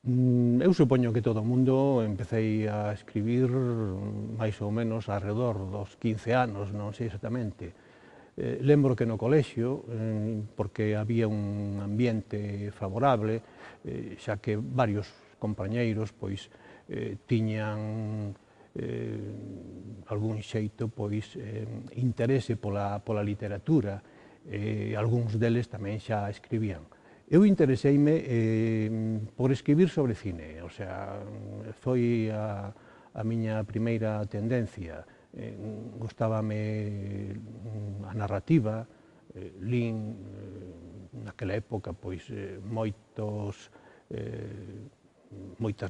Eu supoño que todo o mundo empecei a escribir máis ou menos arredor dos 15 anos, non sei exactamente. Lembro que no colexio, porque había un ambiente favorable, xa que varios compañeiros pois tiñan algún xeito pois interese pola literatura, algúns deles tamén xa escribían. Eu intereseime por escribir sobre cine, o sea, foi a miña primeira tendencia. Gustábame a narrativa, lín naquela época pois moitas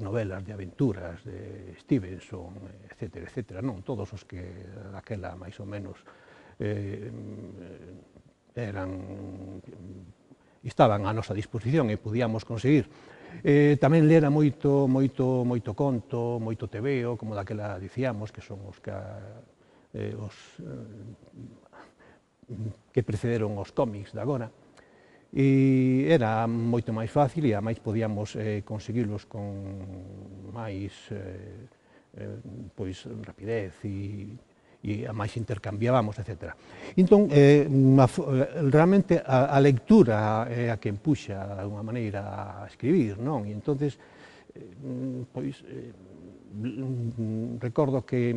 novelas de aventuras de Stevenson, etc., non todos os que daquela máis ou menos estaban á nosa disposición e podíamos conseguir. Tamén lera moito conto, moito tebeo, como daquela dicíamos, que son os que precederon os cómics de agora. E era moito máis fácil e, ademais, podíamos conseguilos con máis rapidez e ademais intercambiábamos, etc. Entón, realmente a lectura é a que empuxa, de alguma maneira, a escribir, non? E entonces, recordo que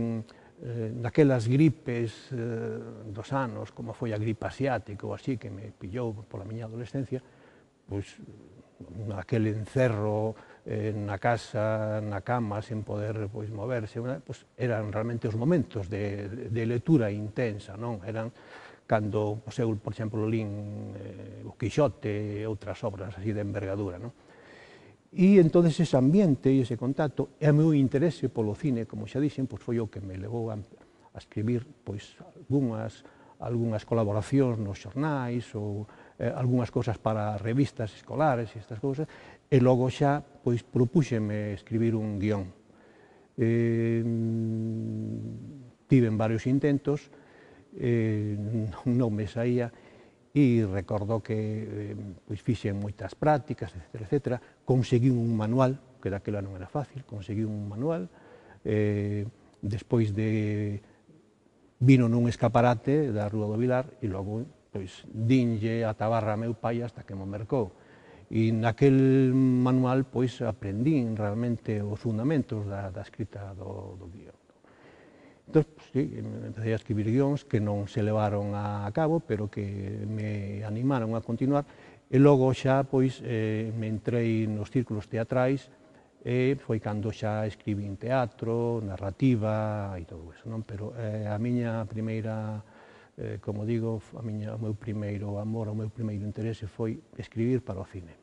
naquelas gripes dos anos, como foi a gripe asiática ou así, que me pillou pola miña adolescencia, pois aquel encerro na casa, na cama, sen poder moverse, pois eran realmente os momentos de lectura intensa, non? Eran cando eu, por exemplo, lín o Quixote e outras obras así de envergadura, non? E entón ese ambiente e ese contacto e o meu interese polo cine, como xa dixen, pois foi o que me levou a escribir pois algunhas colaboracións nos xornais ou algunhas cousas para revistas escolares e estas cousas, e logo xa pois propúxeme escribir un guión. Tiven varios intentos, non me saía, e recordo que fixen moitas prácticas, etc. Conseguí un manual, que daquela non era fácil, conseguí un manual, despois vino nun escaparate da Rúa do Vilar e logo dinlle a tabarra a meu pai hasta que mo mercou. E naquel manual aprendín realmente os fundamentos da escrita do guión. Entón, empecé a escribir guións que non se levaron a cabo, pero que me animaron a continuar, e logo xa me entrei nos círculos teatrais, e foi cando xa escribín teatro, narrativa e todo eso, non? Pero a miña primeira, como digo, o meu primeiro amor, o meu primeiro interese foi escribir para o cine.